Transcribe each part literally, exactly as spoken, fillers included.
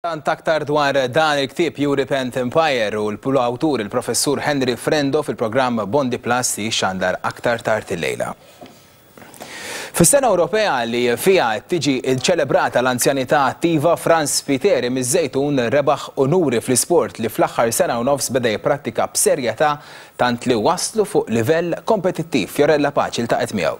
Tant aktar dwar dan il-ktieb You Repent Empire u l-awtur, il-professur Henry Frendo, fil-programm Bondi Plus li xandar aktar tard il-lejla. Fis-sena Ewropea li fija tiġi ċelebrata l-anzjanità attiva, Franz Spiteri miż-Żejtun rebaħ onuri fl-isport li fl-aħħar sena u nofs beda jipprattika b'serjetà, tant li waslu fuq livell kompetittiv. Fiorella Paċi ltaqgħet miegħu.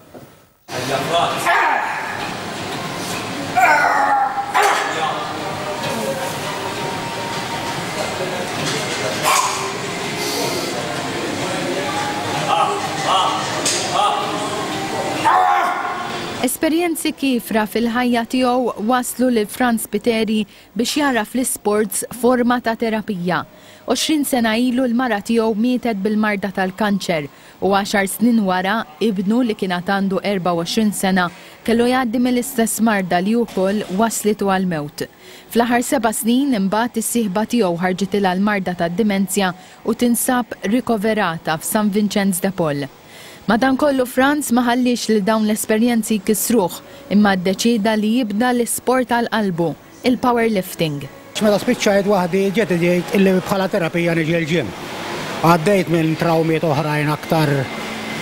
Esperjenzi kiefra fil-ħajja tiegħu waslu lil Franz Spiteri biex jara fl-isports forma ta' terapija. għoxrin sena ilu l-mara tiegħu mietet bil-marda tal-kanċer u għaxar snin wara ibnu, li kien għandu erbgħa u għoxrin sena, kellu jgħaddi mill-istess marda li wkoll waslitu għal-mewt. Fl-aħħar seba' snin imbagħad is-sieħba tiegħu ħarġitilha l-marda tad-dimenzja u tinsab rikoverata f'San Vincenz de Paul. Madankollu, Franz ma ħallix li dawn l-esperjenzi jkissruh, imma ddeċida li jibda l-isport għal qalbu, il-powerlifting. Meta spiċċajt waħdi, ġiet ġejt illi bħala terapija niġi l-gym. Għaddejt minn trawmiet oħrajn aktar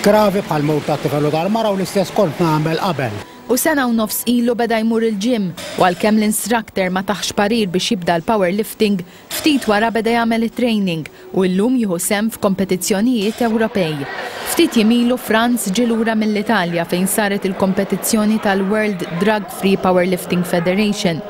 gravi bħal mewt ta' tifel u tal-mara u l-istess kont nagħmel qabel. U sena u nofs ilu beda jmur il-gym u għalkemm l-instructor ma tahx parir biex jibda l-powerlifting, ftit wara beda jagħmel it-training u llum jieħu sehem f'kompetizzjonijiet Ewropej. Ftit jiem ilu Franz ġie lura mill-Italja fejn saret il-kompetizzjoni tal-World Drug Free Powerlifting Federation.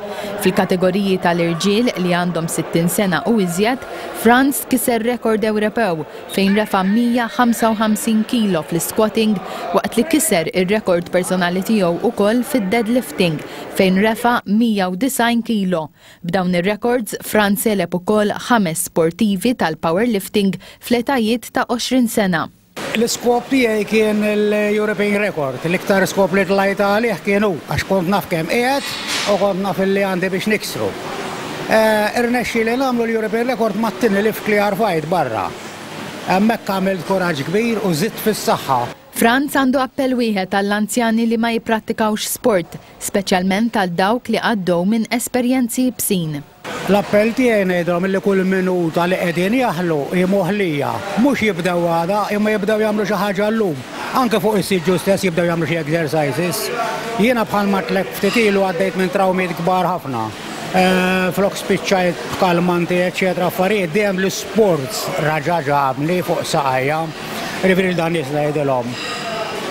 Fil-kategoriji tal-irġiel li għandhom sittin sena u iżjed, Franz kiser rekord Ewropew fejn refa' mija u ħamsa u ħamsin kilo fl-squatting, waqt li kiser ir-rekord personali tiegħu ukoll fid-deadlifting fejn refa' mija u disgħin kilo. B'dawn ir-records, Franz għeleb ukoll ħames sportivi tal-powerlifting fl-etajiet ta' għoxrin sena. L-iskop tiegħi kien l-European Record, l-iktar skop li tlajt għalih kien hu, għax kont naf kemm qiegħed u kont naf li għandi biex niksru. Eh, irnexxieli nagħmlu l-European Record mat-tieni lift li rfajt barra. Hemmhekk għamilt kuraġġ kbir u żidt fis-saħħa. Franz għandu appell wieħed għall-anzjani li ma jipprattikawx sport, speċjalment għal dawk li għaddew minn esperjenzi iebsin. L-appell tiegħi ngħidhom li kull minuta li qegħdin jaħlu hi moħlija, mhux jibdew għada, imma jibdew jagħmlu xi ħaġa llum. Anke fuq is-siġġu stess jibdew jagħmlu xi exercises. Jiena bħal għedtlek ftit ilu għaddejt minn trawmiet kbar ħafna. Eh, flok spiċċajt b'kalmanti, eċetera, affarijiet, dejjem l-sports raġa ġabni fuq saqajja. Jiġifieri dan nies ngħidilhom: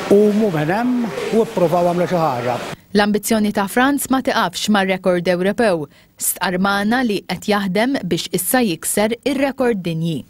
qumu minn hemm u ippruvaw għamlu xi ħaġa. L-ambizzjoni ta' Franz ma tiqafx mar-rekord Ewropew. Stqarr magħna li qed jaħdem biex issa jikser ir-rekord dinji.